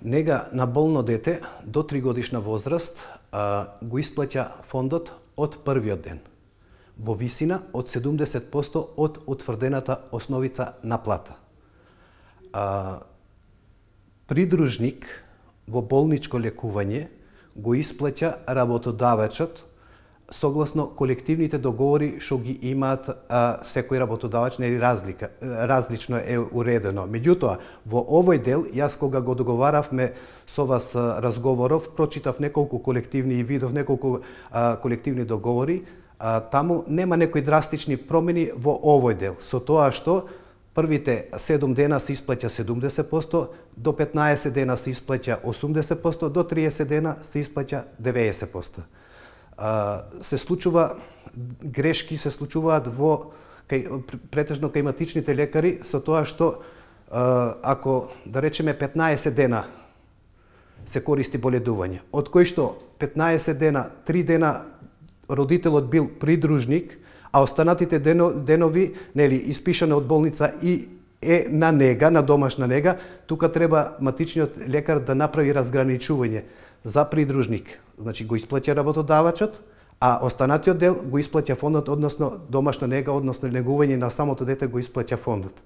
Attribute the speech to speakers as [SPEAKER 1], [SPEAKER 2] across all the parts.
[SPEAKER 1] Нега на болно дете до 3 годишна возраст го исплаќа фондот од првиот ден, во висина од 70% од утврдената основица на плата. Придружник во болничко лекување го исплаќа работодавачот согласно колективните договори што ги имаат секој работодавач, нели различно е уредено. Меѓутоа, во овој дел, јас кога го договаравме со вас разговоров, прочитав неколку колективни и видов неколку колективни договори, таму нема некои драстични промени во овој дел, со тоа што првите 7 дена се исплаќа 70%, до 15 дена се исплаќа 80%, до 30 дена се исплаќа 90%. Се случува грешки, се случуваат претежно кај матичните лекари, со тоа што ако да речеме 15 дена се користи боледување, од кои што 15 дена, 3 дена родителот бил придружник, а останатите денови, нели, испишано од болница и е на нега, на домашна нега, тука треба матичниот лекар да направи разграничување за придружник. Значи го исплаќа работодавачот, а останатиот дел го исплаќа фондот, односно домашна нега, односно негување на самото дете го исплаќа фондот.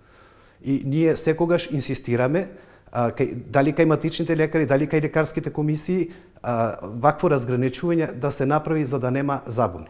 [SPEAKER 1] И ние секогаш инсистираме, дали кај матичните лекари, дали кај лекарските комисии, вакво разграничување да се направи за да нема забуни.